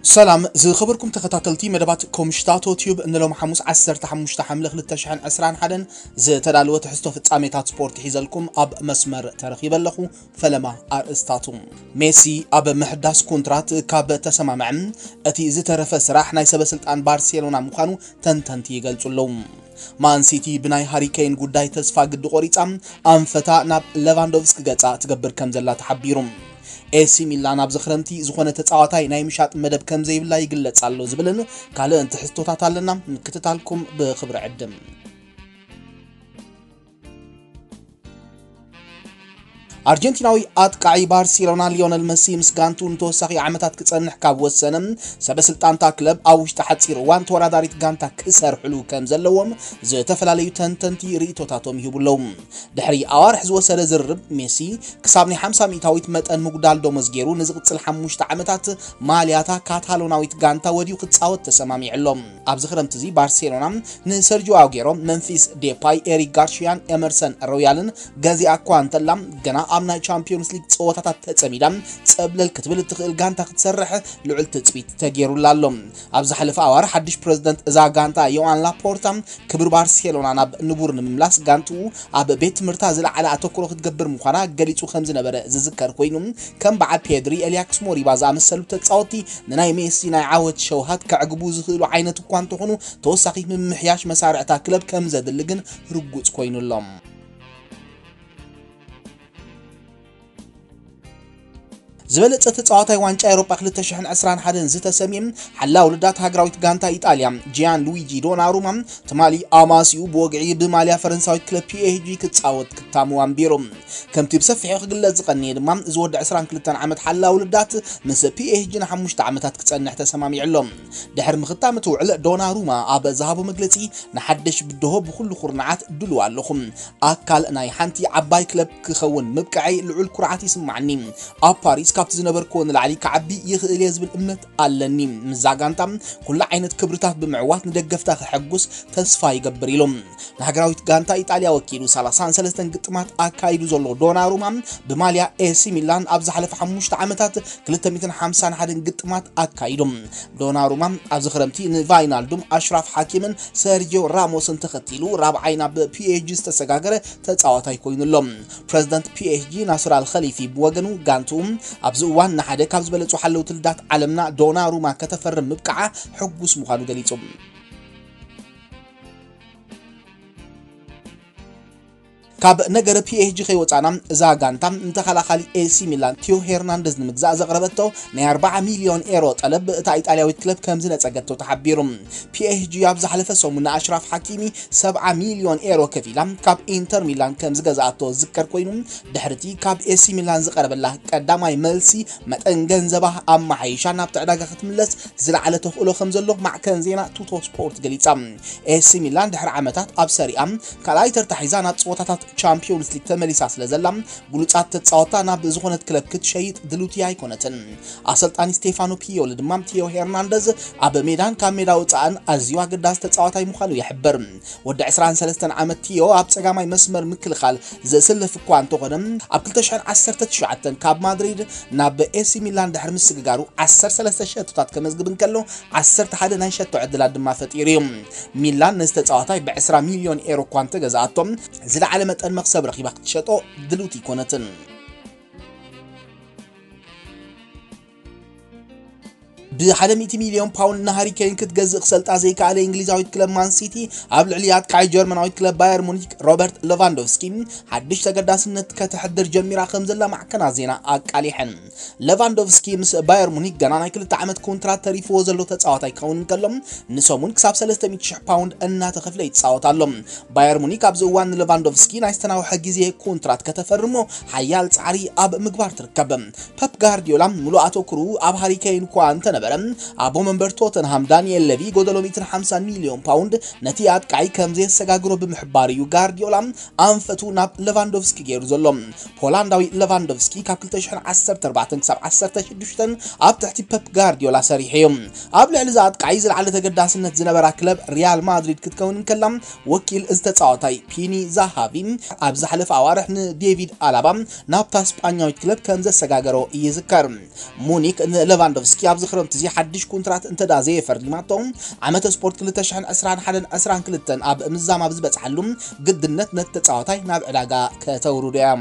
ሰላም ዝኸበርኩም ተኸታተልቲ መደባት ኮምሽታቶ ቲዩብ፣ ንሎም ሓሙስ ዓሰርተ ሓሙሽተ ሓምለ ክልተ ሽሕን ዕስራን ሓደን ዝተዳለወ ትሕዝቶ ፍጻሜታት ስፖርት ሒዘልኩም ኣብ መስመር ተረኺበ ኣለኹ። ፈለማ ኣርእስታቱ። ሜሲ ኣብ ምሕዳስ ኮንትራት ካብ ተሰማምዐ፣ እቲ ዝተረፈ ስራሕ ናይ ሰበ ስልጣን ባርሴሎና ምዃኑ ተንተንቲ ይገልጹ ኣለዉ። ማን ሲቲ ብናይ ሃሪ ኬን ጉዳይ ተስፋ ግዲ ቆሪጻ፣ ኣንፈታ ናብ ሌቫንዶቭስኪ ገጻ ትገብር ከም ዘላ ተሓቢሩ። ኤሲ ሚላን ኣብዚ ክረምቲ ዝኾነ ተጻዋታይ ናይ ምሻጥ መደብ ከም ዘይብላ ይግለጽ ኣሎ ዝብልን ካልእን ትሕዝቶታት ኣለና። ምክትታልኩም ብኽብሪ ዕድም። ኣርጀንቲናዊ ኣጥቃዒ ባርሴሎና ሊዮነል መሲ ምስ ጋንቱ ንተወሳኺ ዓመታት ክጸንሕ ካብ ወሰነ፣ ሰበ ስልጣንታ ክለብ ኣብ ውሽጢ ሓጺር እዋን ተወዳዳሪት ጋንታ ክሰርሕሉ ከም ዘለዎም ዝተፈላለዩ ተንተንቲ ርእይቶታቶም ይህቡ ኣለዉ። ድሕሪ ኣዋርሕ ዝወሰደ ዝርርብ፣ ሜሲ ክሳብ ናይ ሓምሳ ሚእታዊት መጠን ምጉዳል ደሞዝ ገይሩ ንዝቕጽል ሓሙሽተ ዓመታት ማልያታ ካታሎናዊት ጋንታ ወድዩ ክጻወት ተሰማሚዑ ኣሎ። ኣብዚ ክረምቲ እዚ ባርሴሎና ንሰርጂዮ ኣጉዌሮ፣ መምፊስ ዴፓይ፣ ኤሪክ ጋርሺያን ኤመርሰን ሮያልን ገዚኣ እኳ እንተላ፣ ገና ኣብ ናይ ቻምፒዮንስ ሊግ ጸወታታት ተጸሚዳ ጸብለል ክትብል እትኽእል ጋንታ ክትሰርሕ ልዑል ትጽቢት ተገይሩላ ኣሎ። ኣብ ዝሓለፈ ኣዋርሕ ሓድሽ ፕረዚደንት እዛ ጋንታ ዮኣን ላፖርታ ክብሪ ባርሴሎና ናብ ንቡር ንምምላስ ጋንትኡ ኣብ ቤት ትምህርታ ዝለዓለ ኣተኩሮ ክትገብር ምዃና ገሊጹ ከም ዝነበረ ዝዝከር ኮይኑ፣ ከም በዓል ፔድሪ፣ ኤልያክስ ሞሪባ ዝኣመሰሉ ተጻወትቲ ንናይ ሜሲ ናይ ዓወት ሸውሃት ከዕግቡ ዝኽእሉ ዓይነት እኳ እንተኾኑ፣ ተወሳኺ ምምሕያሽ መሳርዕታ ክለብ ከም ዘድሊ ግን ርጉጽ ኮይኑ ኣሎ። ዝበለጸ ተጻዋታይ ዋንጫ ኤውሮጳ ክልተ ሽሕን ዕስራን ሓደን ዝተሰምየ ሓላው ልዳት ሃገራዊት ጋንታ ኢጣልያ ጂያን ሉዊጂ ዶናሩማ፣ ትማሊ ኣማሲኡ ብወግዒ ብማልያ ፈረንሳዊት ክለብ ፒኤስጂ ክጻወት ክታሙ ኣንቢሩ። ከምቲ ብሰፊሑ ክግለጽ ዝቐነየ ድማ፣ እዚ ወዲ ዕስራን ክልተን ዓመት ሓላው ልዳት ምስ ፒኤስጂ ንሓሙሽተ ዓመታት ክጸንሕ ተሰማሚዑ ኣሎ። ድሕሪ ምኽታም እቲ ውዕል፣ ዶናሩማ ኣብ ዝሃቦ መግለጺ፣ ንሓድሽ ብድሆ ብኹሉ ኩርናዓት ድሉው ኣለኹ። ኣካል ናይ ሓንቲ ዓባይ ክለብ ክኸውን ምብቅዐይ ልዑል ኩርዓት ይስማዓኒ። ኣብ ፓሪስ ካብቲ ዝነበርክዎ ንላዕሊ ክዓቢ ይኽእል እየ ዝብል እምነት ኣለኒ። ምስዛ ጋንታ ኩሉ ዓይነት ክብርታት ብምዕዋት ንደገፍታ ከሐጉስ ተስፋ ይገብር ኢሉ። ንሃገራዊት ጋንታ ኢጣልያ ወኪሉ ሰላሳን ሰለስተን ግጥማት ኣካይዱ ዘሎ ዶናሩማ፣ ብማልያ ኤሲ ሚላን ኣብ ዝሓለፈ ሓሙሽተ ዓመታት ክልተ ሚእትን ሓምሳን ሓደን ግጥማት ኣካይዱ። ዶናሩማ ኣብዚ ክረምቲ ንቫይናልዱም፣ ኣሽራፍ ሓኪምን ሰርጂዮ ራሞስን ተኸቲሉ ራብዓይ ናብ ፒኤስጂ ዝተሰጋገረ ተጻዋታይ ኮይኑ ኣሎ። ፕረዚደንት ፒኤስጂ ናስር ኣል ኸሊፊ ብወገኑ፣ ጋንትኡ ኣብዚ እዋን ንሓደ ካብ ዝበለጹ ሓለውቲ ልዳት ዓለምና ዶናሩማ ከተፈርም ምብቃዓ ሕጉስ ምዃኑ ገሊጹ። ካብ ነገር ፒኤስጂ ከይወጻና፣ እዛ ጋንታ ንተኸላኻሊ ኤሲ ሚላን ቲዮ ሄርናንደዝ ንምግዛእ ዘቕረበቶ ናይ ኣርባዓ ሚልዮን ኤሮ ጠለብ እታ ኢጣልያዊት ክለብ ከም ዝነጸገቶ ተሓቢሩ። ፒኤስጂ ኣብ ዝሓለፈ ሰሙን ንኣሽራፍ ሓኪሚ ሰብዓ ሚልዮን ኤሮ ከፊላ ካብ ኢንተር ሚላን ከም ዝገዝኣቶ ዝዝከር ኮይኑ፣ ድሕሪቲ ካብ ኤሲ ሚላን ዝቐረበላ ቀዳማይ መልሲ፣ መጠን ገንዘባ ኣመሓይሻ ናብቲ ዕዳጋ ክትምለስ ዝለዓለ ተኽእሎ ከም ዘሎ ማዕከን ዜና ቱቶ ስፖርት ገሊጻ። ኤሲ ሚላን ድሕሪ ዓመታት ኣብ ሰሪኣ ካልኣይ ተርታ ሒዛ ናብ ጸወታታት ቻምፒዮንስ ሊግ ተመሊሳ ስለ ዘላ፣ ብሉጻት ተጻወታ ናብ ዝኾነት ክለብ ክትሸይጥ ድልውቲ ኣይኮነትን። ኣሰልጣኒ ስቴፋኖ ፒዮሊ ድማ ቲዮ ሄርናንደዝ ኣብ ሜዳን ካብ ሜዳ ወጻእን ኣዝዩ ኣገዳሲ ተጻዋታይ ምዃኑ ይሕብር። ወዲ ዕስራን ሰለስተን ዓመት ቲዮ ኣብ ጸጋማይ መስመር ምክልኻል ዘስልፍ እኳ እንተኾነ፣ ኣብ ክልተ ሽሕን ዓሰርተ ትሽዓተን ካብ ማድሪድ ናብ ኤሲ ሚላን ድሕሪ ምስግጋሩ ዓሰርተ ሰለስተ ሸቶታት ከመዝግብ እንከሎ፣ ዓሰርተ ሓደ ናይ ሸቶ ዕድላት ድማ ፈጢሩ እዩ። ሚላን ነዚ ተጻዋታይ ብዕስራ ሚልዮን ኤሮ እኳ እንተገዝኣቶ፣ ዝለዓለ መጠን መኽሰብ ረኺባ ክትሸጦ ድልውቲ ኣይኮነትን። ብሓደ ሚእቲ ሚልዮን ፓውንድ ንሃሪ ኬን ክትገዝእ ክሰልጣ ዘይከኣለ እንግሊዛዊት ክለብ ማን ሲቲ፣ ኣብ ልዕሊ ኣጥቃዒ ጀርመናዊት ክለብ ባየር ሙኒክ ሮበርት ሌቫንዶቭስኪ ሓድሽ ተገዳስነት ከተሕድር ጀሚራ ከም ዘላ ማዕከናት ዜና ኣቃሊሐን። ሌቫንዶቭስኪ ምስ ባየር ሙኒክ ገና ናይ ክልተ ዓመት ኮንትራት ተሪፍዎ ዘሎ ተጻዋታይ ክኸውን እንከሎ፣ ንሰሙን ክሳብ ሰለስተ ሚእቲ ሽሕ ፓውንድ እናተኸፍለ ይጻወት ኣሎ። ባየር ሙኒክ ኣብዚ እዋን ንሌቫንዶቭስኪ ናይ ዝተናውሐ ግዜ ኮንትራት ከተፈርሞ ሓያል ጻዕሪ ኣብ ምግባር ትርከብ። ፐፕ ጋርዲዮላ ምሉእ ኣተኩሩ ኣብ ሃሪ ኬን እኳ እንተነበረ፣ ኣቦ መንበር ቶተንሃም ዳንኤል ሌቪ ጎደሎ ሚእትን ሓምሳን ሚልዮን ፓውንድ ነቲ ኣጥቃዒ ከም ዘየሰጋግሮ ብምሕባር እዩ ጋርዲዮላ ኣንፈቱ ናብ ሌቫንዶቭስኪ ገይሩ ዘሎ። ፖላንዳዊ ሌቫንዶቭስኪ ካብ ክልተ ሽሕን ዓሰርተ ኣርባዕተን ክሳብ ዓሰርተ ሽዱሽተን ኣብ ትሕቲ ፐፕ ጋርዲዮላ ሰሪሑ እዩ። ኣብ ልዕሊ እዚ ኣጥቃዒ ዝለዓለ ተገዳስነት ዝነበራ ክለብ ሪያል ማድሪድ ክትከውን እንከላ፣ ወኪል እዚ ተጻዋታይ ፒኒ ዛሃቪ ኣብ ዝሓለፈ ኣዋርሕ ንዴቪድ ኣላባ ናብታ ስጳኛዊት ክለብ ከም ዘሰጋገሮ ይዝከር። ሙኒክ ንሌቫንዶቭስኪ ኣብዚ ክረምቲ እዚ ሓድሽ ኮንትራት እንተ ደኣ ዘየፈሪማቶ፣ ዓመተ ስፖርት ክልተ ሽሕን ዕስራን ሓደን ዕስራን ክልተን ኣብ ምዛም ኣብ ዝበጽሓሉ ግድነት ነቲ ተጻዋታይ ናብ ዕዳጋ ከተውርዶ እያ።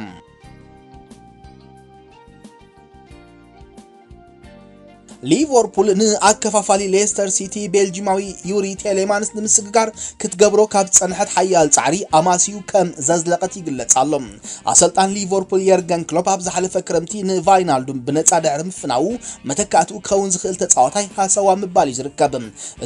ሊቨርፑል ንኣከፋፋሊ ሌስተር ሲቲ ቤልጂማዊ ዩሪ ቴሌማንስ ንምስግጋር ክትገብሮ ካብ ዝጸንሐት ሓያል ጻዕሪ ኣማስዩ ከም ዘዝለቐት ይግለጽ ኣሎ። ኣሰልጣን ሊቨርፑል የርገን ክሎፕ ኣብ ዝሓለፈ ክረምቲ ንቫይናልዱም ብነጻ ድሕሪ ምፍናዉ መተካእትኡ ክኸውን ዝኽእል ተጻዋታይ ሃሰዋ ምባል እዩ ዝርከብ።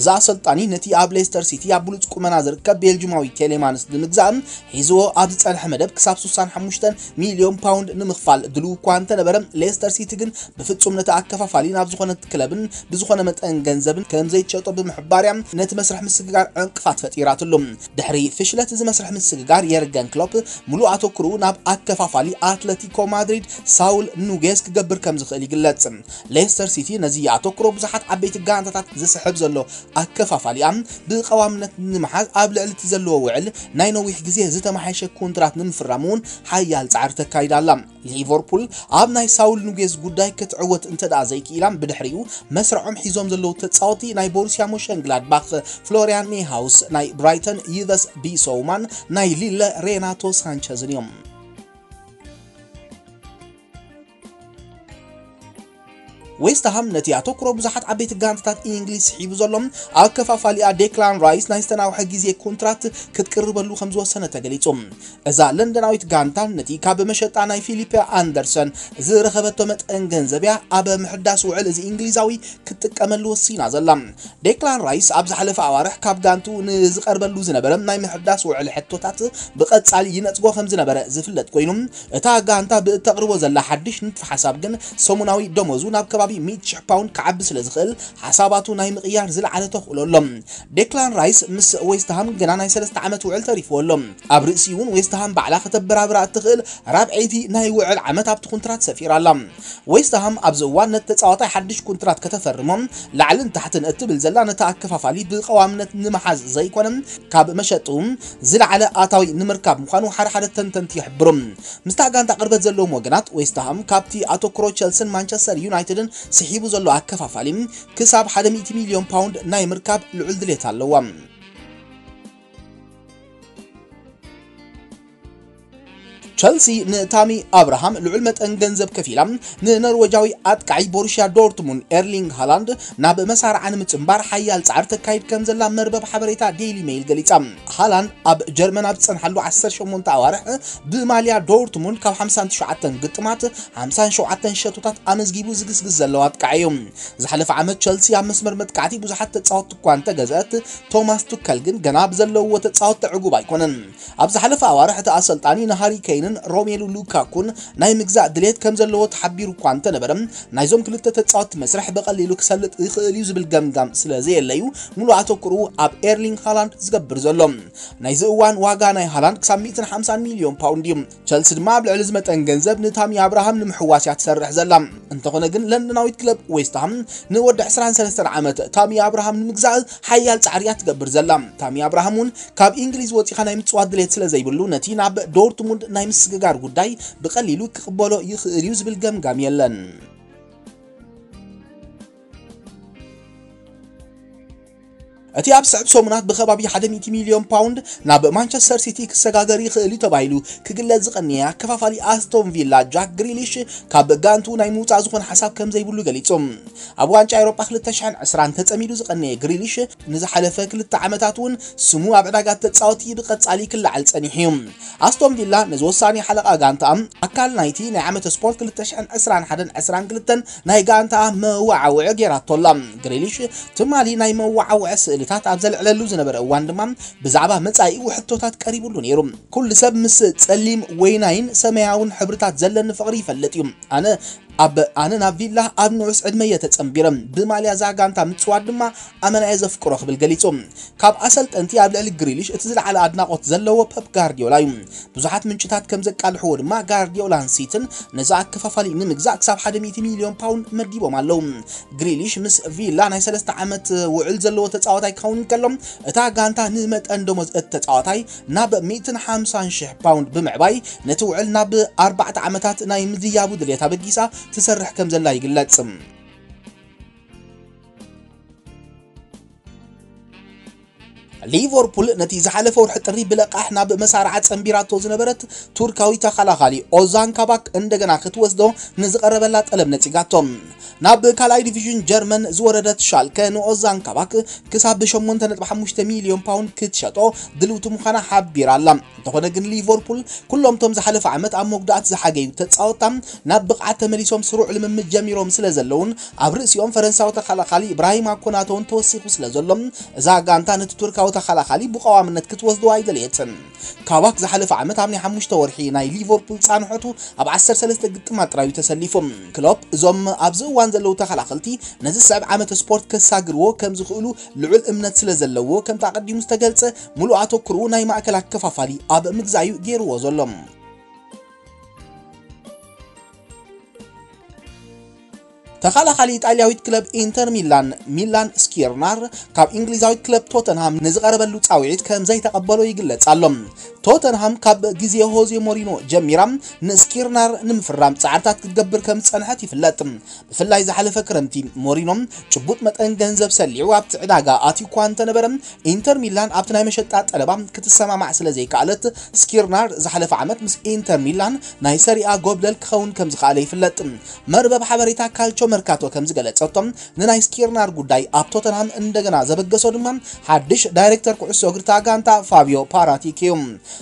እዚ ኣሰልጣኒ ነቲ ኣብ ሌስተር ሲቲ ኣብ ብሉጽ ቁመና ዝርከብ ቤልጂማዊ ቴሌማንስ ንምግዛእ ሒዝዎ ኣብ ዝጸንሐ መደብ ክሳብ ስሳን ሓሙሽተን ሚልዮን ፓውንድ ንምኽፋል ድልው እኳ እንተነበረ፣ ሌስተር ሲቲ ግን ብፍጹም ነቲ ኣከፋፋሊ ናብ ዝኾነት ክለብን ብዝኾነ መጠን ገንዘብን ከም ዘይትሸጦ ብምሕባር እያ ነቲ መስርሕ ምስግጋር ዕንቅፋት ፈጢራትሉ። ድሕሪ ፍሽለት እዚ መስርሕ ምስግጋር የርገን ክሎፕ ምሉእ ኣተኩርኡ ናብ ኣከፋፋሊ ኣትለቲኮ ማድሪድ ሳውል ኑጌዝ ክገብር ከም ዝኽእል ይግለጽ። ሌስተር ሲቲ ነዚ ኣተኩሮ ብዙሓት ዓበይቲ ጋንታታት ዝስሕብ ዘሎ ኣከፋፋሊኣ ብቐዋምነት ንምሓዝ ኣብ ልዕሊ እቲ ዘለዎ ውዕል ናይ ነዊሕ ግዜ ዝተመሓየሸ ኮንትራት ንምፍራም እውን ሓያል ጻዕሪ ተካይዳ ኣላ። ሊቨርፑል ኣብ ናይ ሳውል ኑጌዝ ጉዳይ ክትዕወት እንተ ደኣ ዘይክኢላ፣ ብድሕሪኡ መስርዖም ሒዞም ዘለዉ ተጻወቲ ናይ ቦሩሲያ ሞሸንግላድባኽ ፍሎሪያን ኔሃውስ፣ ናይ ብራይተን ዩቨስ ቢሶውማን፣ ናይ ሊለ ሬናቶ ሳንቸዝን እዮም። ዌስትሃም ነቲ ኣተኩሮ ብዙሓት ዓበይቲ ጋንታታት እንግሊዝ ስሒቡ ዘሎ ኣከፋፋሊኣ ዴክላን ራይስ ናይ ዝተናውሐ ግዜ ኮንትራት ክትቅርበሉ ከም ዝወሰነ ተገሊጹ። እዛ ለንደናዊት ጋንታ ነቲ ካብ መሸጣ ናይ ፊሊፕ ኣንደርሰን ዝረኸበቶ መጠን ገንዘብ እያ ኣብ ምሕዳስ ውዕል እዚ እንግሊዛዊ ክትጥቀመሉ ወሲና ዘላ። ዴክላን ራይስ ኣብ ዝሓለፈ ኣዋርሕ ካብ ጋንቱ ንዝቐርበሉ ዝነበረ ናይ ምሕዳስ ውዕል ሕቶታት ብቐጻሊ ይነጽጎ ከም ዝነበረ ዝፍለጥ ኮይኑ፣ እታ ጋንታ ብእተቕርቦ ዘላ ሓድሽ ንድፊ ሓሳብ ግን ሰሙናዊ ደሞዙ ናብ ከባቢ ሚእቲ ሽሕ ፓውንድ ክዓቢ ስለ ዝኽእል፣ ሓሳባቱ ናይ ምቕያር ዝለዓለ ተኽእሎ ኣሎ። ዴክላን ራይስ ምስ ዌስትሃም ገና ናይ ሰለስተ ዓመት ውዕል ተሪፍዎ ኣሎ። ኣብ ርእሲኡ እውን ዌስትሃም ባዕላ ከተበራብራ እትኽእል ራብዐይቲ ናይ ውዕል ዓመት ኣብቲ ኮንትራት ሰፊራ ኣላ። ዌስትሃም ኣብዚ እዋን ነቲ ተጻዋታይ ሓድሽ ኮንትራት ከተፈርሞ ላዕልን ታሕትን እትብል ዘላ ነቲ ኣከፋፋሊ ብቐዋምነት ንምሓዝ ዘይኮነ፣ ካብ መሸጡ ዝለዓለ ኣታዊ ንምርካብ ምዃኑ ሓደ ሓደ ተንተንቲ ይሕብሩ። ምስታ ጋንታ ቅርበት ዘለዎም ወገናት፣ ዌስትሃም ካብቲ ኣተኩሮ ቸልስን ማንቸስተር ዩናይትድን ስሒቡ ዘሎ ኣከፋፋሊ ክሳብ ሓደ ሚእቲ ሚልዮን ፓውንድ ናይ ምርካብ ልዑል ድሌት ኣለዋ። ቸልሲ ንታሚ ኣብርሃም ልዑል መጠን ገንዘብ ከፊላ ንኖርወጃዊ ኣጥቃዒ ቦሩሽያ ዶርትሙንድ ኤርሊንግ ሃላንድ ናብ መሳርዓ ንምጽንባር ሓያል ጻዕሪ ተካይድ ከም ዘላ መርበብ ሓበሬታ ዴይሊ ሜይል ገሊጻ። ሃላንድ ኣብ ጀርመን ኣብ ዝጸንሓሉ ዓሰርተ ሸሞንተ ኣዋርሕ ብማልያ ዶርትሙንድ ካብ ሓምሳን ትሽዓተን ግጥማት ሓምሳን ሸውዓተን ሸቶታት ኣመዝጊቡ ዝግስግስ ዘሎ ኣጥቃዒ እዩ። ዝሓለፈ ዓመት ቸልሲ ኣብ መስመር መጥቃዕቲ ብዙሓት ተጻወትቲ እኳ እንተገዝአት፣ ቶማስ ቱከል ግን ገና ብዘለውዎ ተጻወትቲ ዕጉብ ኣይኮነን። ኣብ ዝሓለፈ ኣዋርሕ እቲ ኣሰልጣኒ ንሃሪ ኬይንን ሮሜሉ ሉካኩን ናይ ምግዛእ ድሌት ከም ዘለዎ ተሓቢሩ እኳ እንተነበረ፣ ናይዞም ክልተ ተጻወትቲ መስርሕ ብቐሊሉ ክሰልጥ ይኽእል እዩ ዝብል ገምጋም ስለ ዘየለዩ፣ ሙሉእ ኣተኩርኡ ኣብ ኤርሊንግ ሃላንድ ዝገብር ዘሎ። ናይዚ እዋን ዋጋ ናይ ሃላንድ ክሳብ ሚእትን ሓምሳን ሚልዮን ፓውንድ እዩ። ቸልሲ ድማ ኣብ ልዕሊ እዚ መጠን ገንዘብ ንታሚ ኣብርሃም ንምሕዋስ እያ ትሰርሕ ዘላ። እንተኾነ ግን ለንደናዊት ክለብ ዌስትሃም ንወዲ ዕስራን ሰለስተን ዓመት ታሚ ኣብርሃም ንምግዛእ ሓያል ጻዕሪ እያ ትገብር ዘላ። ታሚ ኣብርሃም እውን ካብ እንግሊዝ ወጺኻ ናይ ምጽዋት ድሌት ስለ ዘይብሉ፣ ነቲ ናብ ዶርትሙንድ ናይ ምስግጋር ጉዳይ ብቐሊሉ ክቕበሎ ይኽእል እዩ ዝብል ገምጋም የለን። እቲ ኣብ ስዕብ ሰሙናት ብኸባቢ ሓደ ሚእቲ ሚልዮን ፓውንድ ናብ ማንቸስተር ሲቲ ክሰጋገር ይኽእል እዩ ተባሂሉ ክግለጽ ዝቐነየ ኣከፋፋሊ ኣስቶን ቪላ ጃክ ግሪሊሽ ካብ ጋንቱ ናይ ምውጻእ ዝኾነ ሓሳብ ከም ዘይብሉ ገሊጹ። ኣብ ዋንጫ ኤውሮጳ ክልተ ሽሕን ዕስራን ተጸሚዱ ዝቐነየ ግሪሊሽ ንዝሓለፈ ክልተ ዓመታት እውን ስሙ ኣብ ዕዳጋ ተጻወቲ ብቐጻሊ ክለዓል ጸኒሑ እዩ። ኣስቶን ቪላ ነዚ ወሳኒ ሓለቓ ጋንታ ኣካል ናይቲ ናይ ዓመተ ስፖርት ክልተ ሽሕን ዕስራን ሓደን ዕስራን ክልተን ናይ ጋንታ መወዓውዒ ጌራቶ ኣላ። ግሪሊሽ ትማሊ ናይ መወዓውዒ ስእልታት ኣብ ዘልዕለሉ ዝነበረ እዋን ድማ ብዛዕባ መጻኢኡ ሕቶታት ቀሪቡሉ ነይሩ። "ኩሉ ሰብ ምስ ጸሊም ወይናይን ሰማያውን ሕብርታት ዘለኒ ፍቕሪ ይፈልጥ እዩ። ኣነ ኣብ፣ ኣነ ናብ ቪላ ኣብ ንኡስ ዕድመ እየ ተጸንቢረ። ብማልያ እዛ ጋንታ ምጽዋት ድማ ኣመና እየ ዘፍቅሮ" ክብል ገሊጹ። ካብ ኣሰልጠንቲ ኣብ ልዕሊ ግሪሊሽ እቲ ዝለዓለ ኣድናቖት ዘለዎ ፐፕ ጋርዲዮላ እዩ። ብዙሓት ምንጭታት ከም ዘቃልሕዎ ድማ ጋርዲዮላን ሲትን ነዚ ኣከፋፋሊ ንምግዛእ ክሳብ ሓደ ሚእቲ ሚልዮን ፓውንድ መዲቦም ኣለዉ። ግሪሊሽ ምስ ቪላ ናይ ሰለስተ ዓመት ውዕል ዘለዎ ተጻዋታይ ክኸውን እንከሎ፣ እታ ጋንታ ንመጠን ደሞዝ እቲ ተጻዋታይ ናብ ሚእትን ሓምሳን ሽሕ ፓውንድ ብምዕባይ፣ ነቲ ውዕል ናብ ኣርባዕተ ዓመታት ናይ ምዝያቡ ድሌት ኣበጊሳ ትሰርሕ ከም ዘላ ይግለጽ። ሊቨርፑል ነቲ ዝሓለፈ ወርሒ ጥሪ ብለቃሕ ናብ መሳርዓ ጸንቢራቶ ዝነበረት ቱርካዊ ተኸላኻሊ ኦዛን ካባክ እንደገና ክትወስዶ ንዝቐረበላ ጠለብ ነጺጋቶ። ናብ ካልኣይ ዲቪዥን ጀርመን ዝወረደት ሻልከ ንኦዛን ካባክ ክሳብ ብ8.5 ሚልዮን ፓውንድ ክትሸጦ ድልውቲ ምዃና ሓቢራ ኣላ። እንተኾነ ግን ሊቨርፑል ኩሎም ቶም ዝሓለፈ ዓመት ኣብ መጉዳእቲ ዝሓገዩ ተጻወትታ ናብ ብቕዓት ተመሊሶም ስሩዕ ልምምድ ጀሚሮም ስለ ዘለውን ኣብ ርእሲኦም ፈረንሳዊ ተኸላኻሊ ኢብራሂማ ኮናተ እውን ተወሲኹ ስለ ዘሎ እዛ ጋንታ ነቲ ቱርካዊ ተኸላኻሊ ብቐዋምነት ክትወስዶ ኣይደለየትን። ካባክ ዝሓለፈ ዓመት ኣብ ናይ ሓሙሽተ ወርሒ ናይ ሊቨርፑል ጻንሖቱ ኣብ ዓሰርተ ሰለስተ ግጥማት ጥራዩ ተሰሊፉ። ክሎፕ እዞም ኣብዚ እዋን ዘለዉ ተኸላኸልቲ ነዚ ዝስዕብ ዓመት ስፖርት ከሳግርዎ ከም ዝኽእሉ ልዑል እምነት ስለ ዘለዎ ከምቲ ኣቐዲሙ ዝተገልጸ ሙሉእ ኣተኩርኡ ናይ ማእከል ኣከፋፋሊ ኣብ ምግዛዩ ገይርዎ ዘሎ። ተኸላኻሊ ኢጣልያዊት ክለብ ኢንተር ሚላን ሚላን ስኪርናር ካብ እንግሊዛዊት ክለብ ቶተንሃም ንዝቐረበሉ ጻውዒት ከም ዘይተቐበሎ ይግለጽ ኣሎ። ቶተንሃም ካብ ግዜ ሆዜ ሞሪኖ ጀሚራ ንስኪርናር ንምፍራም ጻዕርታት ክትገብር ከም ዝጸንሐት ይፍለጥ። ብፍላይ ዝሓለፈ ክረምቲ ሞሪኖ ጭቡጥ መጠን ገንዘብ ሰሊዑ ኣብቲ ዕዳጋ ኣትዩ እኳ እንተነበረ ኢንተር ሚላን ኣብቲ ናይ መሸጣ ጠለባ ክትሰማማዕ ስለ ዘይከኣለት ስኪርናር ዝሓለፈ ዓመት ምስ ኢንተር ሚላን ናይ ሰሪኣ ጎብለል ክኸውን ከም ዝኸኣለ ይፍለጥ። መርበብ ሓበሬታ ካልቾ መርካቶ ከም ዝገለጸቶ ንናይ ስኪርናር ጉዳይ ኣብ ቶተንሃም እንደገና ዘበገሶ ድማ ሓድሽ ዳይሬክተር ኩዕሶ እግሪ እታ ጋንታ ፋቢዮ ፓራቲክ እዩ።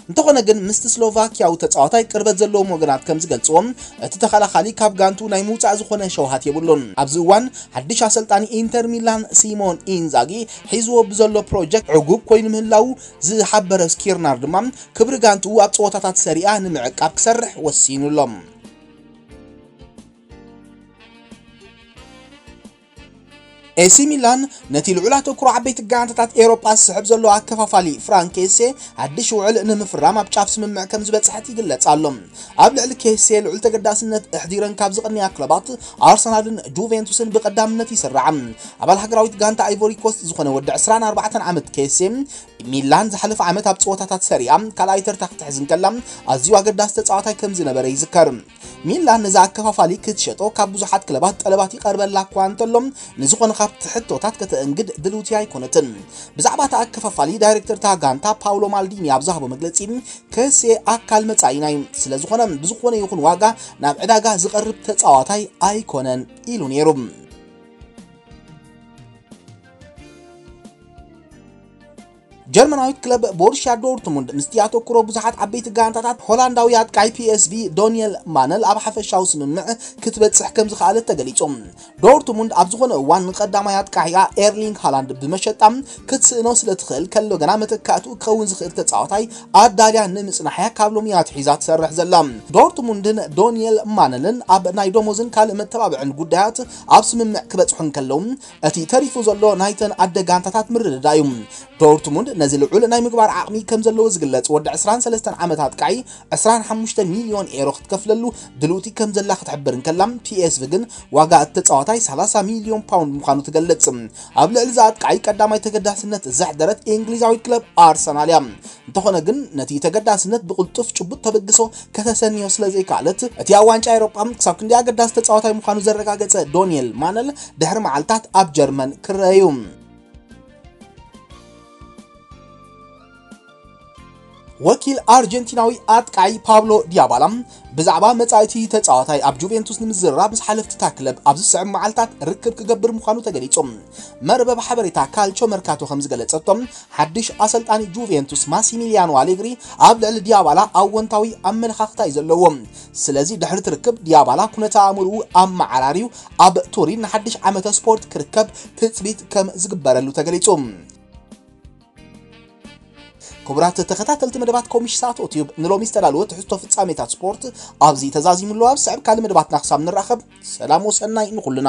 እንተኾነ ግን ምስቲ ስሎቫኪያዊ ተጻዋታይ ቅርበት ዘለዎም ወገናት ከም ዝገልጽዎም እቲ ተኸላኻሊ ካብ ጋንቱ ናይ ምውጻእ ዝኾነ ሸውሃት የብሉን። ኣብዚ እዋን ሓድሽ ኣሰልጣኒ ኢንተር ሚላን ሲሞን ኢንዛጊ ሒዝዎ ብዘሎ ፕሮጀክት ዕጉብ ኮይኑ ምህላዉ ዝሓበረ ስኪርናር ድማ ክብሪ ጋንትኡ ኣብ ጸወታታት ሰሪኣ ንምዕቃብ ክሰርሕ ወሲኑ ኣሎ። ኤሲ ሚላን ነቲ ልዑል ኣተኩሮ ዓበይቲ ጋንታታት ኤውሮጳ ዝስሕብ ዘሎ ኣከፋፋሊ ፍራንክ ኬሴ ሓድሽ ውዕል ንምፍራም ኣብ ጫፍ ስምምዕ ከም ዝበጽሐት ይግለጽ ኣሎ። ኣብ ልዕሊ ኬሴ ልዑል ተገዳስነት ኣሕዲረን ካብ ዝቕንያ ክለባት ኣርሰናልን ጁቬንቱስን ብቐዳምነት ይስራዓ። ኣባል ሃገራዊት ጋንታ ኣይቮሪ ኮስት ዝኾነ ወዲ ዕስራን ኣርባዕተን ዓመት ኬሴ ሚላን ዝሓለፈ ዓመት ኣብ ጸወታታት ሰሪኣ ካልኣይ ተርታ ክትሕዝ እንከላ ኣዝዩ ኣገዳሲ ተጻዋታይ ከም ዝነበረ ይዝከር። ሚላን ነዚ ኣከፋፋሊ ክትሸጦ ካብ ብዙሓት ክለባት ጠለባት ይቐርበላ እኳ እንተሎ ንዝኾነ ካብቲ ሕቶታት ከተእንግድ ድልውቲ ኣይኮነትን። ብዛዕባ እቲ ኣከፋፋሊ ዳይሬክተር እታ ጋንታ ፓውሎ ማልዲኒ ኣብ ዝሃቦ መግለጺ ከሴ ኣካል መጻኢና እዩ፣ ስለ ዝኾነ ብዝኾነ ይኹን ዋጋ ናብ ዕዳጋ ዝቐርብ ተጻዋታይ ኣይኮነን ኢሉ ነይሩ። ጀርመናዊት ክለብ ቦሩሽያ ዶርትሙንድ ምስቲ ኣተኩሮ ብዙሓት ዓበይቲ ጋንታታት ሆላንዳዊ ኣጥቃዒ ፒኤስቪ ዶኒየል ማነል ኣብ ሓፈሻዊ ስምምዕ ክትበጽሕ ከም ዝኸኣለት ተገሊጹ። ዶርትሙንድ ኣብ ዝኾነ እዋን ንቐዳማይ ኣጥቃዒኣ ኤርሊንግ ሃላንድ ብመሸጣ ክትስእኖ ስለ ትኽእል ከሎ ግና መተካእትኡ ክኸውን ዝኽእል ተጻዋታይ ኣዳልያ ንምጽናሕያ ካብ ሎሚ ኣትሒዛ ትሰርሕ ዘላ። ዶርትሙንድን ዶኒየል ማነልን ኣብ ናይ ደሞዝን ካልእ መተባብዕን ጉዳያት ኣብ ስምምዕ ክበጽሑ እንከለዉ እቲ ተሪፉ ዘሎ ናይተን ኣደ ጋንታታት ምርድዳእ እዩ። ዶርትሙንድ ነዚ ልዑል ናይ ምግባር ዓቕሚ ከም ዘለዎ ዝግለጽ ወዲ ዕስራን ሰለስተን ዓመት ኣጥቃዒ ዕስራን ሓሙሽተ ሚልዮን ኤሮ ክትከፍለሉ ድልውቲ ከም ዘላ ክትሕብር እንከላ ፒኤስቪ ግን ዋጋ እቲ ተጻዋታይ ሰላሳ ሚልዮን ፓውንድ ምዃኑ ትገልጽ። ኣብ ልዕሊ እዚ ኣጥቃዒ ቀዳማይ ተገዳስነት ዘሕደረት እንግሊዛዊት ክለብ ኣርሰናል እያ። እንተኾነ ግን ነቲ ተገዳስነት ብቕልጡፍ ጭቡጥ ተበግሶ ከተሰንዮ ስለ ዘይከኣለት እቲ ኣብ ዋንጫ ኤውሮጳ ክሳብ ክንደይ ኣገዳሲ ተጻዋታይ ምዃኑ ዘረጋገጸ ዶኒየል ማነል ድሕሪ መዓልታት ኣብ ጀርመን ክረአ እዩ። ወኪል ኣርጀንቲናዊ ኣጥቃዒ ፓብሎ ዲያባላ ብዛዕባ መጻኢቲ ተጻዋታይ ኣብ ጁቬንቱስ ንምዝርራብ ምስ ሓለፍቲ እታ ክለብ ኣብ ዝስዕብ መዓልታት ርክብ ክገብር ምዃኑ ተገሊጹ። መርበብ ሓበሬታ ካልቾ መርካቶ ከም ዝገለጸቶ ሓድሽ ኣሰልጣኒ ጁቬንቱስ ማሲሚሊያኖ ኣሌግሪ ኣብ ልዕሊ ዲያባላ ኣወንታዊ ኣመለኻኽታ እዩ ዘለዎ። ስለዚ ድሕሪ እቲ ርክብ ዲያባላ ኩነተ ኣእምርኡ ኣመዓራርዩ ኣብ ቱሪን ንሓድሽ ዓመተ ስፖርት ክርከብ ትጽቢት ከም ዝግበረሉ ተገሊጹ። ክቡራት ተኸታተልቲ መደባት ኮሚሽሳቶ ቲዩብ ንሎሚ ዝተዳለወ ትሕዝቶ ፍጻሜታት ስፖርት ኣብዚ ተዛዚሙ ኣሎ። ኣብ ስዕብ ካልእ መደባትና ክሳብ ንራኸብ ሰላም ወሰናይ ንኹልና።